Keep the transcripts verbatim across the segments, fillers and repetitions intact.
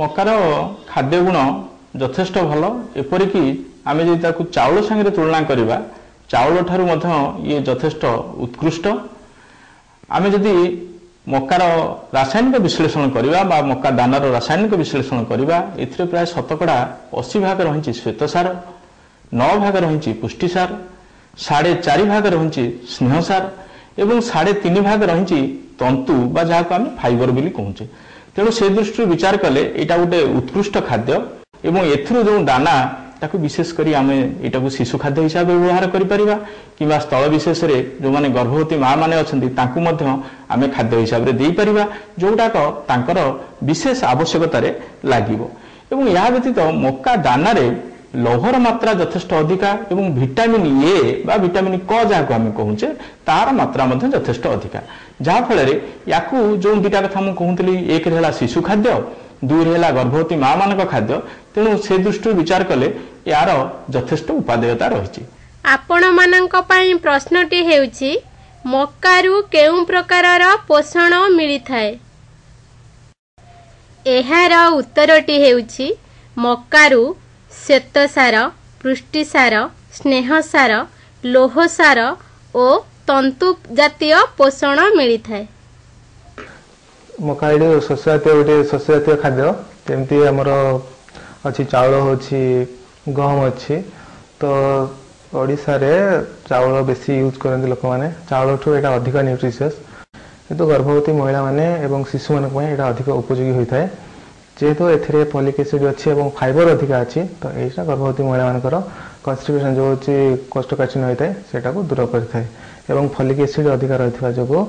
ମକାର ଖାଦ୍ୟ ଗୁଣ ଯଥେଷ୍ଟ ଭଲ। ଏପରିକି ଆମେ ଯଦି ତାକୁ ଚାଉଳ ସାଙ୍ଗରେ ତୁଳନା କରିବା, ଚାଉଳ ଠାରୁ ମଧ୍ୟ ଇଏ ଯଥେଷ୍ଟ ଉତ୍କୃଷ୍ଟ। ଆମେ ଯଦି ମକାର ରାସାୟନିକ ବିଶ୍ଳେଷଣ କରିବା ବା ମକା ଦାନାର ରାସାୟନିକ ବିଶ୍ଳେଷଣ କରିବା, ଏଥିରେ ପ୍ରାୟ ଶତକଡ଼ା ଅଶୀ ଭାଗ ରହିଛି ଶ୍ୱେତସାର, ନଅ ଭାଗ ରହିଛି ପୁଷ୍ଟିସାର, ସାଢ଼େ ଚାରି ଭାଗ ରହିଛି ସ୍ନେହସାର ଏବଂ ସାଢ଼େ ତିନି ଭାଗ ରହିଛି ତନ୍ତୁ ବା ଯାହାକୁ ଆମେ ଫାଇବର ବୋଲି କହୁଛେ। ତେଣୁ ସେ ଦୃଷ୍ଟିରୁ ବିଚାର କଲେ ଏଇଟା ଗୋଟେ ଉତ୍କୃଷ୍ଟ ଖାଦ୍ୟ ଏବଂ ଏଥିରୁ ଯେଉଁ ଦାନା ତାକୁ ବିଶେଷ କରି ଆମେ ଏଇଟାକୁ ଶିଶୁ ଖାଦ୍ୟ ହିସାବରେ ବ୍ୟବହାର କରିପାରିବା କିମ୍ବା ସ୍ଥଳ ବିଶେଷରେ ଯେଉଁମାନେ ଗର୍ଭବତୀ ମା ମାନେ ଅଛନ୍ତି ତାଙ୍କୁ ମଧ୍ୟ ଆମେ ଖାଦ୍ୟ ହିସାବରେ ଦେଇପାରିବା, ଯେଉଁଟାକ ତାଙ୍କର ବିଶେଷ ଆବଶ୍ୟକତାରେ ଲାଗିବ। ଏବଂ ଏହା ବ୍ୟତୀତ ମକା ଦାନାରେ ଲୌହର ମାତ୍ରା ଯଥେଷ୍ଟ ଅଧିକା ଏବଂ ଭିଟାମିନ୍ ଏ ବା ଭିଟାମିନ୍ କ ଯାହାକୁ ଆମେ କହୁଛେ ତାର ମାତ୍ରା ମଧ୍ୟ ଯଥେଷ୍ଟ ଅଧିକା, ଯାହାଫଳରେ ୟାକୁ ଯେଉଁ ଦୁଇଟା କଥା ମୁଁ କହୁଥିଲି, ଏକରେ ହେଲା ଶିଶୁ ଖାଦ୍ୟ, ଦୁଇରେ ହେଲା ଗର୍ଭବତୀ ମା ମାନଙ୍କ ଖାଦ୍ୟ। ତେଣୁ ସେ ଦୃଷ୍ଟିରୁ ବିଚାର କଲେ ଏହାର ଯଥେଷ୍ଟ ଉପାଦେୟତା ରହିଛି। ଆପଣମାନଙ୍କ ପାଇଁ ପ୍ରଶ୍ନଟି ହେଉଛି, ମକାରୁ କେଉଁ ପ୍ରକାରର ପୋଷଣ ମିଳିଥାଏ? ଏହାର ଉତ୍ତରଟି ହେଉଛି ମକାରୁ ଶ୍ୱେତସାର, ପୁଷ୍ଟିସାର, ସ୍ନେହସାର, ଲୌହସାର ଓ ତନ୍ତୁ ଜାତୀୟ ପୋଷଣ ମିଳିଥାଏ। ମକା ଏଠି ଶସ୍ୟ ଜାତୀୟ ଗୋଟେ ଶସ୍ୟ ଜାତୀୟ ଖାଦ୍ୟ। ଯେମିତି ଆମର ଅଛି ଚାଉଳ ଅଛି, ଗହମ ଅଛି, ତ ଓଡ଼ିଶାରେ ଚାଉଳ ବେଶୀ ୟୁଜ୍ କରନ୍ତି ଲୋକମାନେ। ଚାଉଳଠୁ ଏଇଟା ଅଧିକ ନ୍ୟୁଟ୍ରିସିୟସ୍, କିନ୍ତୁ ଗର୍ଭବତୀ ମହିଳାମାନେ ଏବଂ ଶିଶୁମାନଙ୍କ ପାଇଁ ଏଇଟା ଅଧିକ ଉପଯୋଗୀ ହୋଇଥାଏ। ଯେହେତୁ ଏଥିରେ ଫଲିକ୍ ଏସିଡ୍ ଅଛି ଏବଂ ଫାଇବର ଅଧିକା ଅଛି, ତ ଏଇଟା ଗର୍ଭବତୀ ମହିଳାମାନଙ୍କର କନଷ୍ଟିପେସନ୍ ଯେଉଁ ହେଉଛି କୋଷ୍ଠକାଠିନ୍ୟ ହୋଇଥାଏ ସେଇଟାକୁ ଦୂର କରିଥାଏ। ଏବଂ ଫଲିକ୍ ଏସିଡ୍ ଅଧିକା ରହିଥିବା ଯୋଗୁଁ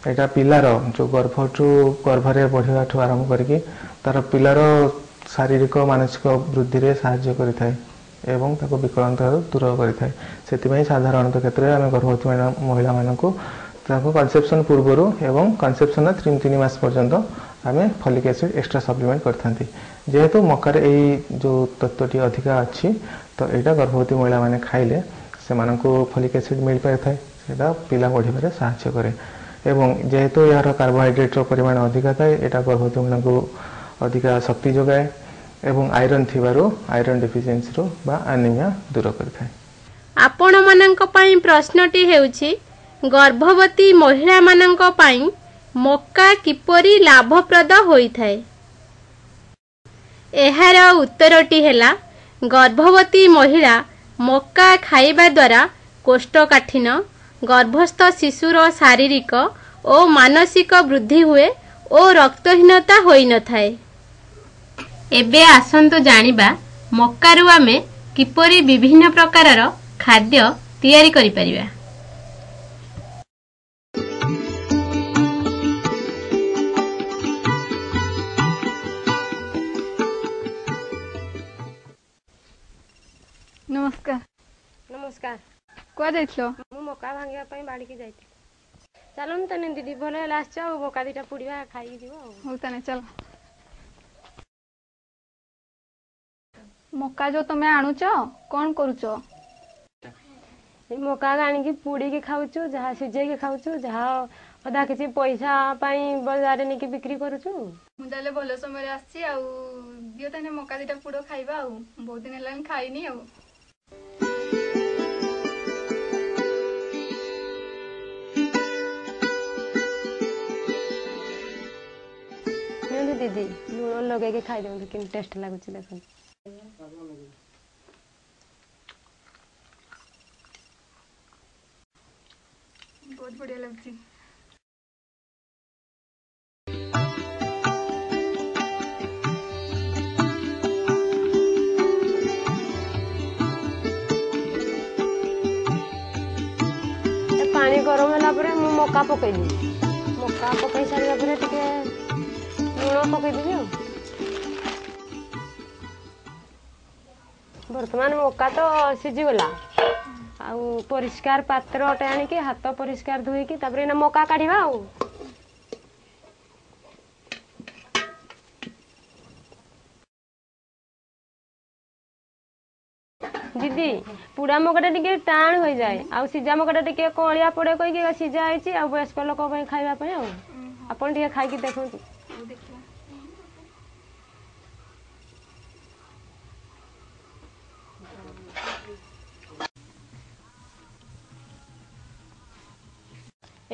ଏଇଟା ପିଲାର ଯେଉଁ ଗର୍ଭଠୁ ଗର୍ଭରେ ବଢ଼ିବାଠୁ ଆରମ୍ଭ କରିକି ତାର ପିଲାର ଶାରୀରିକ ମାନସିକ ବୃଦ୍ଧିରେ ସାହାଯ୍ୟ କରିଥାଏ ଏବଂ ତାକୁ ବିକଳାଙ୍ଗତାରୁ ଦୂର କରିଥାଏ। ସେଥିପାଇଁ ସାଧାରଣତଃ କ୍ଷେତ୍ରରେ ଆମେ ଗର୍ଭବତୀ ମହିଳାମାନଙ୍କୁ ତାଙ୍କୁ କନସେପସନ୍ ପୂର୍ବରୁ ଏବଂ କନସେପସନ୍ର ତିନି ତିନି ମାସ ପର୍ଯ୍ୟନ୍ତ ଆମେ ଫଲିକ୍ ଏସିଡ୍ ଏକ୍ସଟ୍ରା ସପ୍ଲିମେଣ୍ଟ କରିଥାନ୍ତି। ଯେହେତୁ ମକାରେ ଏଇ ଯେଉଁ ତତ୍ତ୍ୱଟି ଅଧିକା ଅଛି, ତ ଏଇଟା ଗର୍ଭବତୀ ମହିଳାମାନେ ଖାଇଲେ ସେମାନଙ୍କୁ ଫଲିକ୍ ଏସିଡ୍ ମିଳିପାରିଥାଏ, ସେଇଟା ପିଲା ବଢ଼ିବାରେ ସାହାଯ୍ୟ କରେ। ଏବଂ ଯେହେତୁ ଏହାର କାର୍ବୋହାଇଡ୍ରେଟ୍ର ପରିମାଣ ଅଧିକା ଥାଏ, ଏଇଟା ଗର୍ଭବତୀ ମହିଳାଙ୍କୁ ଅଧିକା ଶକ୍ତି ଯୋଗାଏ ଏବଂ ଆଇରନ୍ ଥିବାରୁ ଆଇରନ୍ ଡେଫିସିଏନ୍ସିରୁ ବା ଆନିମିଆ ଦୂର କରିଥାଏ। ଆପଣମାନଙ୍କ ପାଇଁ ପ୍ରଶ୍ନଟି ହେଉଛି, ଗର୍ଭବତୀ ମହିଳାମାନଙ୍କ ପାଇଁ ମକା କିପରି ଲାଭପ୍ରଦ ହୋଇଥାଏ? ଏହାର ଉତ୍ତରଟି ହେଲା, ଗର୍ଭବତୀ ମହିଳା ମକା ଖାଇବା ଦ୍ୱାରା କୋଷ୍ଠକାଠିନ୍ୟ, ଗର୍ଭସ୍ଥ ଶିଶୁର ଶାରୀରିକ ଓ ମାନସିକ ବୃଦ୍ଧି ହୁଏ ଓ ରକ୍ତହୀନତା ହୋଇନଥାଏ। ଏବେ ଆସନ୍ତୁ ଜାଣିବା ମକାରୁ ଆମେ କିପରି ବିଭିନ୍ନ ପ୍ରକାରର ଖାଦ୍ୟ ତିଆରି କରିପାରିବା। ନମସ୍କାର। ନମସ୍କାର। କୁଆଡ଼େ ଯାଇଥିଲ? ମୁଁ ମକା ଭାଙ୍ଗିବା ପାଇଁ ବାଡ଼ିକି ଯାଇଥିଲି। ଚାଲନ୍ତୁ ତାନେ ଦିଦି, ଭଲ ହେଲା ଆସିଛ, ଆଉ ମକା ଦିଟା ପୋଡ଼ିବା, ଖାଇକି ଯିବ। ଆଉ ହଉ ତାନେ ଚାଲ। ମକା ଯୋଉ ତମେ ଆଣୁଛ କଣ କରୁଛ? ଏଇ ମକା ଆଣିକି ପୋଡ଼ିକି ଖାଉଛୁ, ଯାହା ସିଝେଇକି ଖାଉଛୁ, ଯାହା ଅଧା କିଛି ପଇସା ପାଇଁ ବଜାରରେ ନେଇକି ବିକ୍ରି କରୁଛୁ। ମୁଁ ତାହେଲେ ଭଲ ସମୟରେ ଆସିଛି। ଆଉ ଦିଅ ତାହେଲେ ମକା ଦିଟା ପୋଡ଼ ଖାଇବା, ଆଉ ବହୁତ ଦିନ ହେଲାଣି ଖାଇନି। ଆଉ ନିଅନ୍ତୁ ଦିଦି, ଲୁଣ ଲଗେଇକି ଖାଇଦିଅନ୍ତୁ, କେମିତି ଟେଷ୍ଟ ଲାଗୁଛି ଦେଖନ୍ତୁ। ବହୁତ ବଢିଆ ଲାଗୁଛି। ଏ ପାଣି ଗରମ ହେଲା ପରେ ମୁଁ ମକା ପକେଇଦେବି। ମକା ପକେଇ ସାରିଲା ପରେ ଟିକେ ଲୁଣ ପକେଇଦେବି। ଆଉ ବର୍ତ୍ତମାନ ମକା ତ ସିଝିଗଲା, ଆଉ ପରିଷ୍କାର ପାତ୍ରଟେ ଆଣିକି ହାତ ପରିଷ୍କାର ଧୋଇକି ତାପରେ ଏଇନା ମକା କାଢିବା। ଆଉ ଦିଦି, ପୁଡ଼ା ମକାଟା ଟିକେ ଟାଣ ହୋଇଯାଏ ଆଉ ସିଝା ମକାଟା ଟିକେ କଅଁଳିଆ ପଡେ କହିକି ସିଝା ହେଇଛି, ଆଉ ବୟସ୍କ ଲୋକଙ୍କ ପାଇଁ ଖାଇବା ପାଇଁ। ଆଉ ଆପଣ ଟିକେ ଖାଇକି ଦେଖନ୍ତୁ। ହଉ ଦେଖିବା।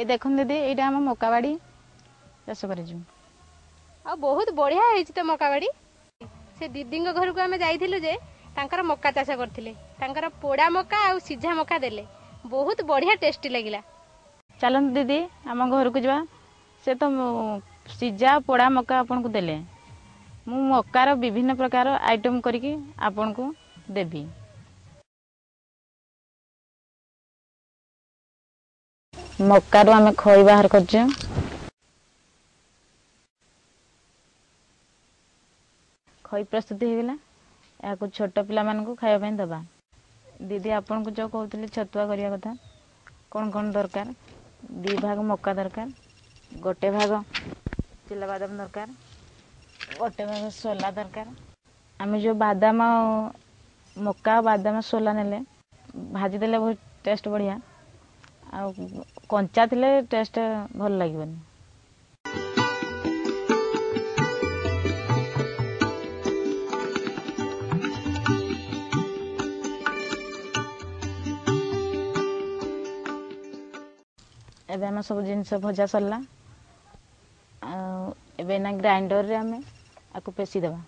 ଏ ଦେଖନ୍ତୁ ଦିଦି, ଏଇଟା ଆମ ମକା ବାଡ଼ି ଚାଷ କରିଛୁ। ଆଉ ବହୁତ ବଢିଆ ହେଇଛି ତ ମକା ବାଡ଼ି। ସେ ଦିଦିଙ୍କ ଘରକୁ ଆମେ ଯାଇଥିଲୁ ଯେ ତାଙ୍କର ମକା ଚାଷ କରିଥିଲେ। ତାଙ୍କର ପୋଡ଼ା ମକା ଆଉ ସିଝା ମକା ଦେଲେ, ବହୁତ ବଢିଆ ଟେଷ୍ଟି ଲାଗିଲା। ଚାଲନ୍ତୁ ଦିଦି, ଆମ ଘରକୁ ଯିବା। ସେ ତ ସିଝା ପୋଡ଼ା ମକା ଆପଣଙ୍କୁ ଦେଲେ, ମୁଁ ମକାର ବିଭିନ୍ନ ପ୍ରକାର ଆଇଟମ୍ କରିକି ଆପଣଙ୍କୁ ଦେବି। ମକାରୁ ଆମେ ଖଇ ବାହାର କରୁଛୁ। ଖଇ ପ୍ରସ୍ତୁତ ହେଇଗଲା। ଏହାକୁ ଛୋଟ ପିଲାମାନଙ୍କୁ ଖାଇବା ପାଇଁ ଦେବା। ଦିଦି, ଆପଣଙ୍କୁ ଯେଉଁ କହୁଥିଲି ଛତୁଆ କରିବା କଥା, କ'ଣ କ'ଣ ଦରକାର? ଦୁଇ ଭାଗ ମକା ଦରକାର, ଗୋଟେ ଭାଗ ଚିଲାବାଦାମ ଦରକାର, ଗୋଟେ ଭାଗ ସୋଲା ଦରକାର। ଆମେ ଯେଉଁ ବାଦାମ, ମକା, ବାଦାମ, ସୋଲା ନେଲେ ଭାଜିଦେଲେ ବହୁତ ଟେଷ୍ଟ ବଢ଼ିଆ, ଆଉ କଞ୍ଚା ଥିଲେ ଟେଷ୍ଟ ଭଲ ଲାଗିବନି। ଏବେ ଆମ ସବୁ ଜିନିଷ ଭଜା ସରିଲା, ଆଉ ଏବେ ନା ଗ୍ରାଇଣ୍ଡରରେ ଆମେ ଆକୁ ପେଶି ଦେବା।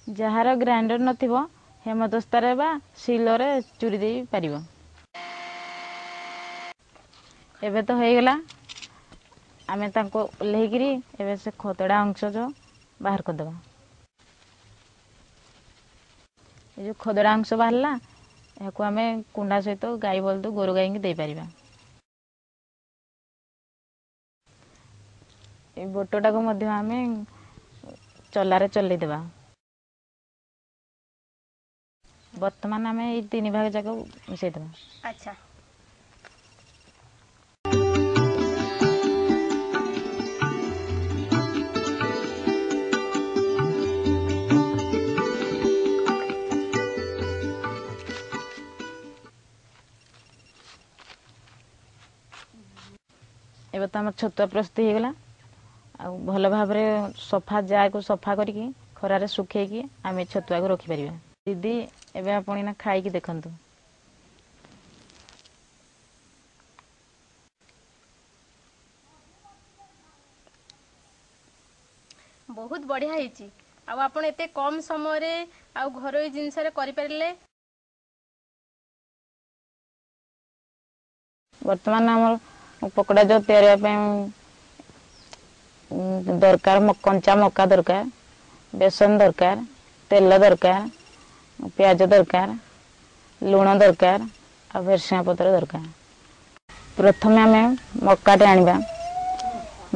ଯାହାର ଗ୍ରାଇଣ୍ଡର ନଥିବ, ହେମଦସ୍ତାରେ ବା ଶିଳରେ ଚୁରି ଦେଇ ପାରିବ। ଏବେ ତ ହେଇଗଲା। ଆମେ ତାଙ୍କୁ ଓହ୍ଲେଇକିରି ଏବେ ସେ ଖଦଡ଼ା ଅଂଶ ଯେଉଁ ବାହାର କରିଦେବା। ଏ ଯେଉଁ ଖଦଡ଼ା ଅଂଶ ବାହାରିଲା, ଏହାକୁ ଆମେ କୁଣ୍ଡା ସହିତ ଗାଈ ବଳଦ, ଗୋରୁ ଗାଈଙ୍କୁ ଦେଇପାରିବା। ଏଇ ବୋଟଟାକୁ ମଧ୍ୟ ଆମେ ଚଲାରେ ଚଲେଇଦେବା। ବର୍ତ୍ତମାନ ଆମେ ଏଇ ତିନି ଭାଗ ଯାକ ମିଶାଇଦେବା। ଆଚ୍ଛା। ଏବେ ତ ଆମର ଛତୁଆ ପ୍ରସ୍ତୁତ ହେଇଗଲା। ଆଉ ଭଲ ଭାବରେ ସଫା ଜାରକୁ ସଫା କରିକି ଖରାରେ ଶୁଖେଇକି ଆମେ ଛତୁଆକୁ ରଖିପାରିବା। ଦିଦି, ଏବେ ଆପଣ ଏଇନା ଖାଇକି ଦେଖନ୍ତୁ। ବହୁତ ବଢିଆ ହେଇଛି। ଆଉ ଆପଣ ଏତେ କମ ସମୟରେ ଆଉ ଘରୋଇ ଜିନିଷରେ କରିପାରିଲେ। ବର୍ତ୍ତମାନ ଆମର ପକୋଡ଼ା ଯେଉଁ ତିଆରି ହେବା ପାଇଁ ଦରକାର, କଞ୍ଚା ମକା ଦରକାର, ବେସନ ଦରକାର, ତେଲ ଦରକାର, ପିଆଜ ଦରକାର, ଲୁଣ ଦରକାର ଆଉ ଭେରସୁଙ୍ଗା ପତ୍ର ଦରକାର। ପ୍ରଥମେ ଆମେ ମକାଟେ ଆଣିବା।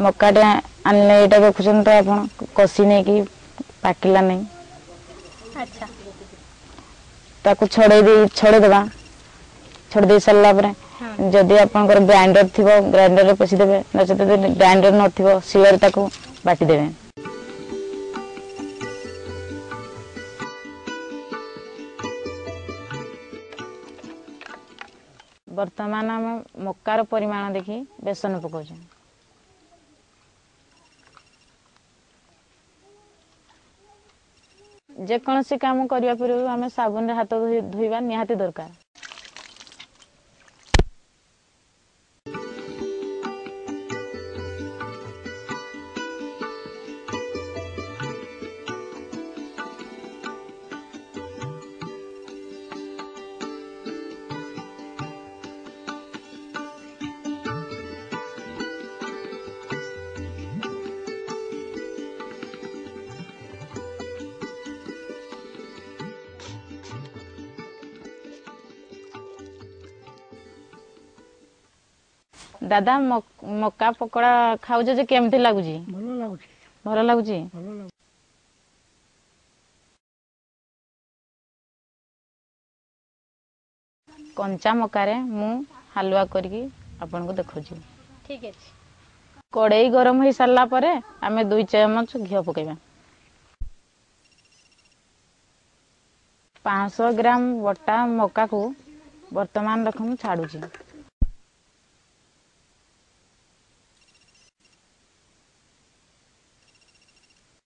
ମକାଟେ ଆଣିଲେ ଏଇଟା ଦେଖୁଛନ୍ତି ତ ଆପଣ, କଷି ନେଇକି ପାକିଲା ନାହିଁ। ଆଚ୍ଛା। ତାକୁ ଛଡ଼େଇ ଦେଇ ଛଡ଼େଇ ଦେବା। ଛଡ଼େଇ ଦେଇ ସାରିଲା ପରେ ଯଦି ଆପଣଙ୍କର ଗ୍ରାଇଣ୍ଡର ଥିବ, ଗ୍ରାଇଣ୍ଡରରେ ପେଶିଦେବେ, ନଚେତ ଯଦି ଗ୍ରାଇଣ୍ଡର ନଥିବ, ଶିଳରେ ତାକୁ ବାଟିଦେବେ। ବର୍ତ୍ତମାନ ଆମେ ମକାର ପରିମାଣ ଦେଖି ବେସନ ପକାଉଛୁ। ଯେକୌଣସି କାମ କରିବା ପୂର୍ବରୁ ଆମେ ସାବୁନରେ ହାତ ଧୋଇବା ନିହାତି ଦରକାର। ଦାଦା, ମକା ପକୋଡ଼ା ଖାଉଛ ଯେ କେମିତି ଲାଗୁଛି? ଭଲ ଲାଗୁଛି। ଭଲ ଲାଗୁଛି। ଭଲ ଲାଗୁଛି। କଞ୍ଚା ମକାରେ ମୁଁ ହାଲୁଆ କରିକି ଆପଣଙ୍କୁ ଦେଖାଉଛି। ଠିକ ଅଛି। କଡ଼େଇ ଗରମ ହେଇ ସାରିଲା ପରେ ଆମେ ଦୁଇ ଚାମଚ ଘିଅ ପକାଇବା। ପାଞ୍ଚଶହ ଗ୍ରାମ ବଟା ମକାକୁ ବର୍ତ୍ତମାନ ରଖ ମୁଁ ଛାଡୁଛି।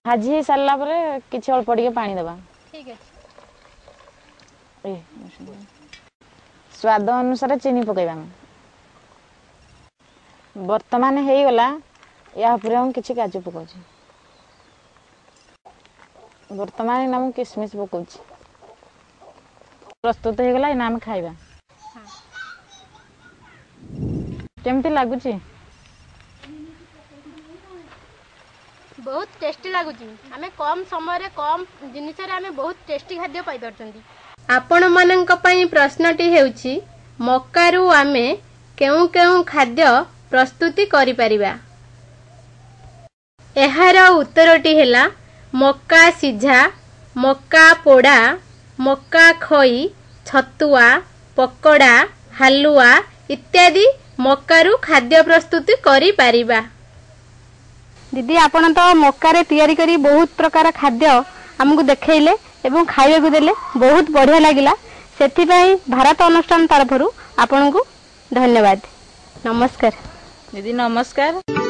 ଭାଜି ହେଇ ସାରିଲା ପରେ କିଛି ଅଳ୍ପ ଟିକେ ପାଣି ଦେବା। ଠିକ ଅଛି। ସ୍ୱାଦ ଅନୁସାରେ ଚିନି ପକାଇବା। ଆମେ ବର୍ତ୍ତମାନ ହେଇଗଲା। ୟା ଉପରେ ମୁଁ କିଛି କାଜୁ ପକାଉଛି। ବର୍ତ୍ତମାନ ଏଇନା ମୁଁ କିସମିସ୍ ପକାଉଛି। ପ୍ରସ୍ତୁତ ହେଇଗଲା, ଏଇନା ଆମେ ଖାଇବା। କେମିତି ଲାଗୁଛି? ବହୁତ ଟେଷ୍ଟି ଲାଗୁଛି। ଆମେ କମ୍ ସମୟରେ କମ୍ ଜିନିଷରେ ଆମେ ବହୁତ ଟେଷ୍ଟି ଖାଦ୍ୟ ପାଇପାରୁଛନ୍ତି। ଆପଣମାନଙ୍କ ପାଇଁ ପ୍ରଶ୍ନଟି ହେଉଛି, ମକାରୁ ଆମେ କେଉଁ କେଉଁ ଖାଦ୍ୟ ପ୍ରସ୍ତୁତି କରିପାରିବା? ଏହାର ଉତ୍ତରଟି ହେଲା ମକା ସିଝା, ମକା ପୋଡ଼ା, ମକା ଖଇ, ଛତୁଆ, ପକୋଡ଼ା, ହାଲୁଆ ଇତ୍ୟାଦି ମକାରୁ ଖାଦ୍ୟ ପ୍ରସ୍ତୁତି କରିପାରିବା। ଦିଦି, ଆପଣ ତ ମକାରେ ତିଆରି କରି ବହୁତ ପ୍ରକାର ଖାଦ୍ୟ ଆମକୁ ଦେଖେଇଲେ ଏବଂ ଖାଇବାକୁ ଦେଲେ, ବହୁତ ବଢ଼ିଆ ଲାଗିଲା। ସେଥିପାଇଁ ଭାରତ ଅନୁଷ୍ଠାନ ତରଫରୁ ଆପଣଙ୍କୁ ଧନ୍ୟବାଦ। ନମସ୍କାର ଦିଦି। ନମସ୍କାର।